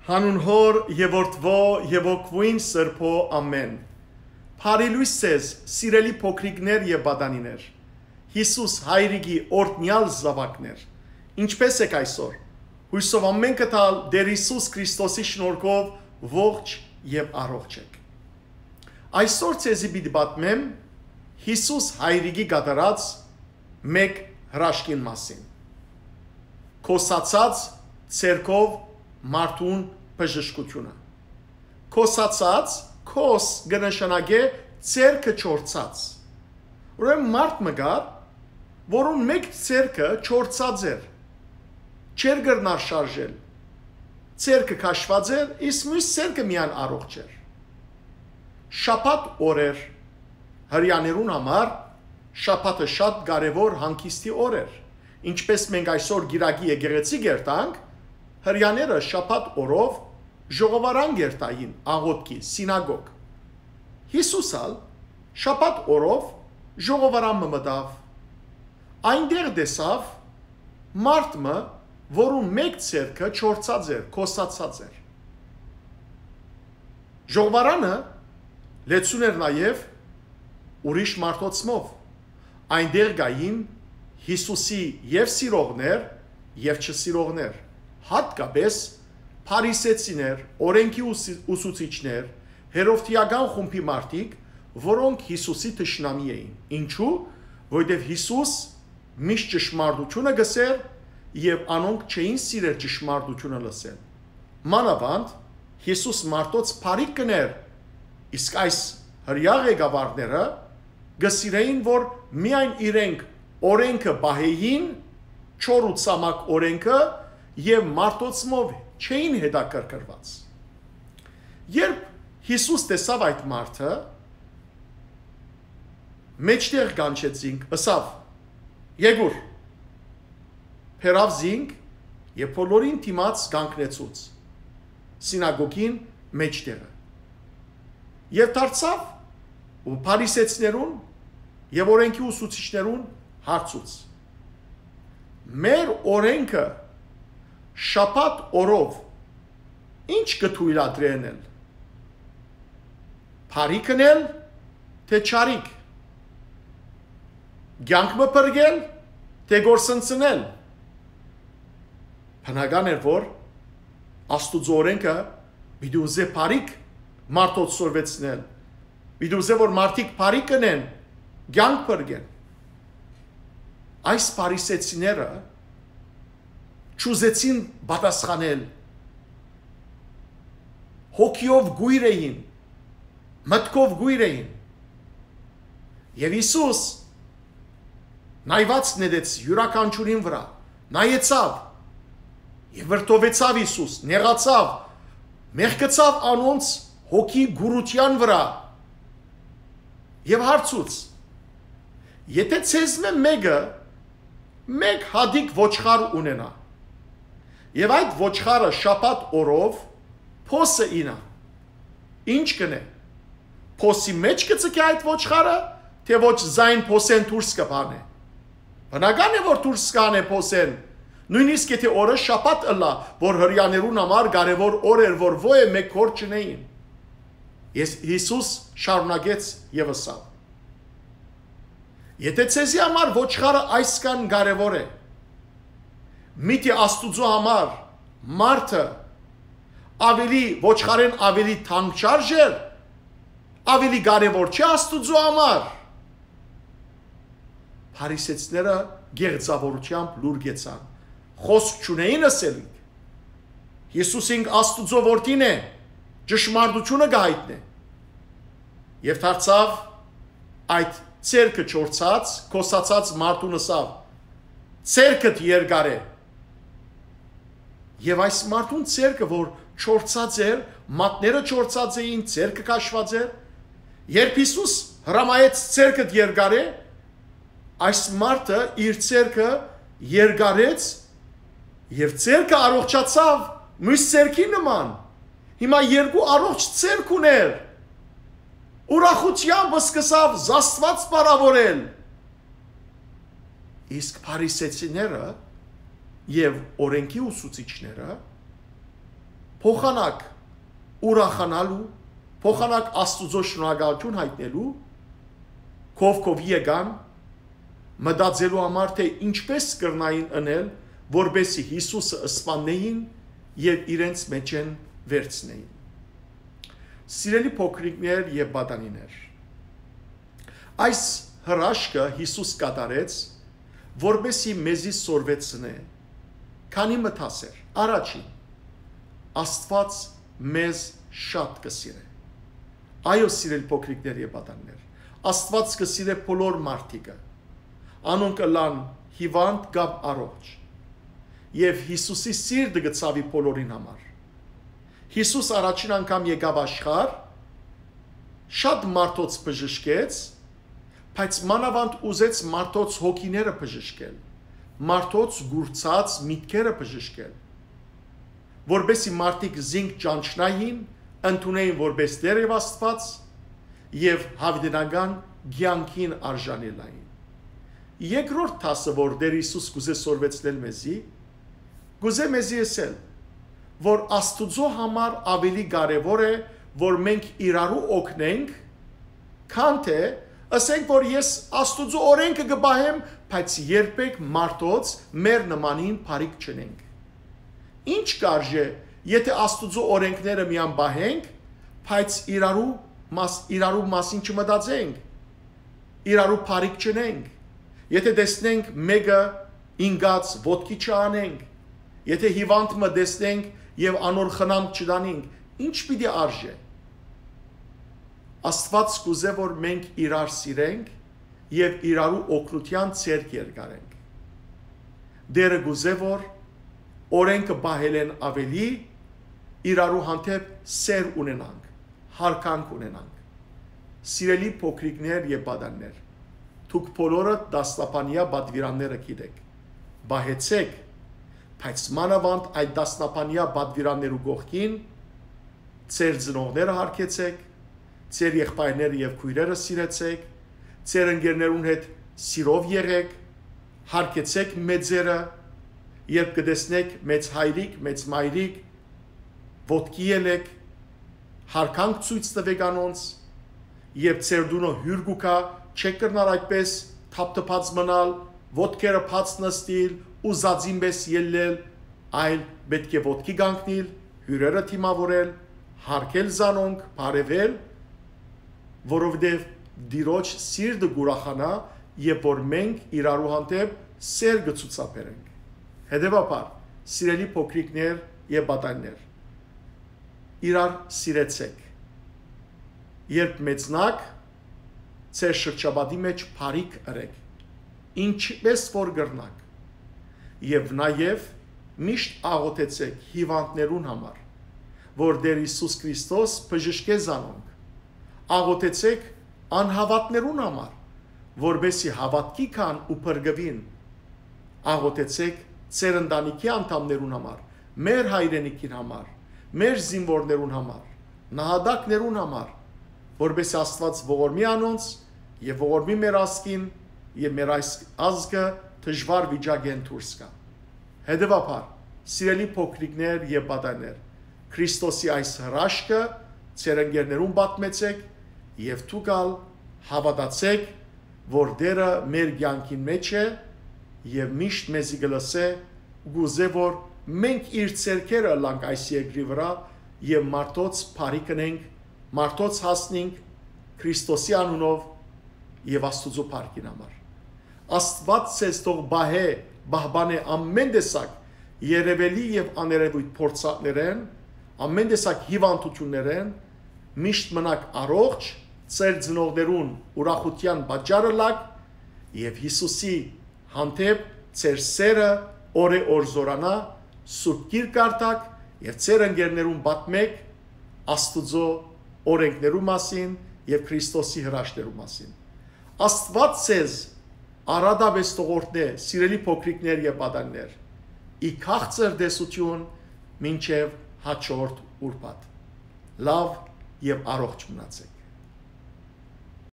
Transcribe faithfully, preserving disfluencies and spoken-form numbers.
Հանուն Հօր եւ Որդւոյ եւ Հոգւոյն Սրբոյ, ամէն։ Բարի լոյս ձեզ, սիրելի փոքրիկներ եւ պատանիներ։ Յիսուս Հայրիկի օրհնեալ զաւակներ, ինչպէս եք այսօր։ Յուսով ամէնքը թալ Տէր Յիսուս Քրիստոսի շնորհքով ողջ եւ առողջ եք։ Այսօր ձեզի պիտի պատմեմ Յիսուս Հայրիկի կատարած մէկ հրաշքին մասին։ Քոսացած ձեռքով մարդուն բժշկութիւնը։ Քոսացած, քոս կը նշանակէ ձեռքը չորցած։ Ուրեմն մարդ մը կար, որուն մէկ ձեռքը չորցած էր, չէր կրնար շարժել։ Ձեռքը քաշուած էր, իսկ միւս ձեռքը միայն առողջ էր։ Շաբաթ օր էր։ Հրեաներուն համար շաբաթը շատ կարեւոր հանգիստի օր էր։ Ինչպէս մենք այսօր կիրակի եկեղեցի կերտանք, հրեաները շաբաթ օրով ժողովարան կերտային աղօթքի, սինագոգ։ Յիսուս ալ շաբաթ օրով ժողովարան մը մտաւ։ Այնտեղ տեսաւ մարդ մը, որուն մէկ ձեռքը չորցած էր, քոսացած էր։ Ժողովարանը լեցուն էր նաեւ ուրիշ մարդոցմով։ Այնտեղ կային Յիսուսի եւ սիրողներ, եւ չսիրողներ, յատկապես փարիսեցիներ, օրէնքի ուսի-, ուսուցիչներ, հերովդիական խումբի մարդիկ, որոնք Յիսուսի թշնամի էին։ Ինչու՞, որովհետեւ Յիսուս միշտ ճշմարտութիւնը կ'ըսէր եւ անոնք չէին սիրեր ճշմարտութիւնը լսել։ Մանաւանդ Յիսուս մարդոց բարիք կ'ընէր, իսկ այս հրեա ղեկավարները կը սիրէին, որ միայն իրենք օրէնքը պահէին, չոր ու ցամաք օրէնքը, եւ մարդոցմով չէին հետաքրքրուած։ Երբ Յիսուս տեսաւ այդ մարդը, մէջտեղ կանչեց զինք, ըսաւ. «Եկուր»։ Բերաւ զինք եւ բոլորին դիմաց կանգնեցուց սինագոգին մէջտեղը։ Եւ դարձաւ ու փարիսեցիներուն եւ օրէնքի ուսուցիչներուն հարցուց. «Մեր օրէնքը շաբաթ օրով ի՞նչ կը թոյլատրէ ընել։ Բարիք ընել, թէ չարիք։ Կեանք մը փրկել, թէ կորսնցնել»։ Բնական էր, որ Աստուծոյ օրէնքը պիտի ուզէ բարիք մարդոց սորվեցնել, պիտի ուզէ, որ մարդիկ բարիք ընեն, կեանք փրկեն։ Այս փարիսեցիները չուզեցին պատասխանել, հոգիով կոյր էին, մտքով կոյր էին։ Եւ Յիսուս նայուած նետեց իւրաքանչիւրին վրայ, նայեցաւ եւ վրդովեցաւ Յիսուս, նեղացաւ, մեղկցաւ անոնց հոգի կուրութեան վրայ եւ հարցուց. «Եթէ ձեզմէ մէկը մէկ հատիկ ոչխար ունենայ, եւ այդ ոչխարը շաբաթ օրով փոսը իյնայ, ի՞նչ կ'ընէ։ Փոսի մէջ կը ձգէ այդ ոչխարը, թէ ոչ զայն փոսէն դուրս կը բանէ։ Բնական է, որ դուրս կ'անէ փոսէն, նոյնիսկ եթէ օրը շաբաթ ըլլայ, որ հրեաներուն համար կարեւոր օր էր, որ ոյ մէկ հոր չունէին»։ Ես, Յիսուս շարունակեց եւ ըսաւ. «Եթէ ձեզի համար ոչխարը այսքան կարեւոր է, միթէ Աստուծոյ համար մարդը ավելի, ոչխարէն ավելի թանկ չարժեր, ավելի կարեւոր չէ Աստուծոյ համար»։ Փարիսեցիները գեղձաւորութեամբ լուր գեցան, խօսք չունէին ըսելիք. «Յիսուս ինք Աստուծոյ որդին է, ճշմարտութիւնը կը յայտնէ»։ Եւ դարձաւ այդ ձեռքը չորցած, քոսացած մարդուն ըսաւ. «Ձեռքդ երկար է»։ Եւ այս մարդուն ձեռքը, որ չորցած էր, մատները չորցած էին, ձեռքը քաշուած էր, երբ Յիսուս հրամայեց. «Ձեռքդ երկար է», այս մարդը իր ձեռքը երկարեց եւ ձեռքը առողջացաւ միւս ձեռքի նման։ Հիմա երկու առողջ ձեռք ունէր։ Ուրախութեամբ սկսաւ Աստուած փառաւորել։ Իսկ փարիսեցիները եւ օրէնքի ուսուցիչները փոխանակ ուրախանալու, փոխանակ Աստուծոյ շնորհակալութիւն յայտնելու, քով քովի եկան, մտածելու համար, թէ ինչպէս կրնային ընել, որպէսզի Յիսուսը սպաննէին եւ իրենց մէջէն վերցնէին։ Սիրելի փոքրիկներ եւ պատանիներ, այս հրաշքը Յիսուս կատարեց, որպէսզի մեզի սորվեցնէ քանի մը դասեր։ Առաջին, Աստուած մեզ շատ կը սիրէ։ Այո, սիրելի փոքրիկներ եւ պատանիներ, Աստուած կը սիրէ բոլոր մարդիկը, անոնք ըլլան հիվանդ կամ առողջ։ Եւ Յիսուսի սիրտը կը ցաւի բոլորին համար։ Յիսուս առաջին անգամ եկաւ աշխարհ, շատ մարդոց բժշկեց, բայց մանաւանդ ուզեց մարդոց հոգիները բժշկել, մարդոց կուրցած միտքերը բժշկել, որպէսզի մարդիկ զինք ճանչնային, ընդունէին որպէս Տէր եւ Աստուած եւ յաւիտենական կեանքին արժանելային։ Երկրորդ դասը, որ Տէր Յիսուս կուզէ սորվեցնել մեզի, կուզէ մեզի ըսել, որ Աստուծոյ համար աւելի կարեւոր է, որ մենք իրարու օգնենք, քան թէ ըսենք, որ ես Աստուծոյ օրէնքը կը պահեմ, բայց երբեք մարդոց մեր նմանին բարիք չընենք։ Ինչ կարժէ, եթէ Աստուծոյ օրէնքները միան պահենք, բայց իրարու մաս-, իրարու մասին չմտածենք, իրարու բարիք չընենք, եթէ տեսնենք մէկը ինկած, ոտքի չանենք, եթէ հիվանդ մը տեսնենք եւ անոր խնամք չտանենք, ինչ պիտի արժէ։ Աստուած կուզէ, որ մենք իրար սիրենք եւ իրարու օգնութեան ձեռք երկարենք։ Տէրը կուզէ, որ օրէնքը պահելէն աւելի իրարու հանդէպ սէր ունենանք, յարգանք ունենանք։ Սիրելի փոքրիկներ եւ պատանիներ, դուք բոլորը դասնապանեայ պատուիրանները գիտէք, պահեցէք, բայց մանաւանդ այդ դասնապանեայ պատուիրաններու կողքին ձեր ծնողները յարգեցէք, ձեր եղբայրները եւ քոյրերը սիրեցէք, ձեր ընկերներուն հետ սիրով եղէք, յարգեցէք մեծերը, երբ կը տեսնէք մեծ հայրիկ, մեծ մայրիկ, ոտքի ելէք, յարգանք ցոյց տուէք անոնց, երբ ձեր տունը հիւր կու գայ, չէք կրնար այդպէս թափթփած մնալ, ոտքերը բաց նստիլ, ուզածին պէս ելլել, այլ պէտք է ոտքի կանգնիլ, հիւրերը դիմաւորել, յարգել զանոնք, բարեւել, որովհետեւ Տիրոջ սիրտը կ'ուրախանայ եւ որ մենք իրարու հանդէպ սէր կը ցուցաբերենք։ Հետեւաբար, սիրելի փոքրիկներ եւ պատանիներ, իրար սիրեցէք։ Երբ մեծնաք, ձեր շրջապատի մէջ բարիք ըրէք, ինչպէս որ կրնաք։ Եւ նաեւ միշտ աղօթեցէք հիվանդներուն համար, որ Տէր Յիսուս Քրիստոս բժշկէ զանոնք։ Աղօթեցէք անհաւատներուն համար, որպէսզի հաւատքի գան ու փրկուին։ Աղօթեցէք ձեր ընտանիքի անդամներուն համար, մեր հայրենիքին համար, մեր զինուորներուն համար, նահատակներուն համար, որպէսզի Աստուած ողորմի անոնց եւ ողորմի մեր ազգին եւ մեր այս ազգը դժուար վիճակէն դուրս գայ։ Հետեւաբար, սիրելի փոքրիկներ եւ պատանիներ, Քրիստոսի այս հրաշքը ձեր ընկերներուն պատմեցէք եւ դուք ալ հաւատացէք, որ Տէրը մեր կեանքին մէջ է եւ միշտ մեզի կը լսէ, կ'ուզէ, որ մենք իր ձեռքերը ըլլանք այս երկրի վրայ եւ մարդոց բարիք ընենք, մարդոց հասնենք Քրիստոսի անունով եւ Աստուծոյ փառքին համար։ Աստուած ձեզ թող պահէ, պահպանէ ամէն տեսակ երեւելի եւ աներեւոյթ փորձանքներէն, ամէն տեսակ հիվանդութիւններէն, միշտ մնաք առողջ, ձեր ծնողներուն ուրախութեան պատճառ ըլլաք եւ Յիսուսի հանդէպ ձեր սէրը օրէ օր զօրանայ, Սուրբ Գիրք կարդաք եւ ձեր ընկերներուն պատմէք Աստուծոյ օրէնքներու մասին եւ Քրիստոսի հրաշքներու մասին։ Աստուած ձեզ առատապէս թող օրհնէ, սիրելի փոքրիկներ եւ պատանիներ, ի քաղցր տեսութիւն մինչեւ հաջորդ ուրբաթ։ Լաւ եւ առողջ մնացէք։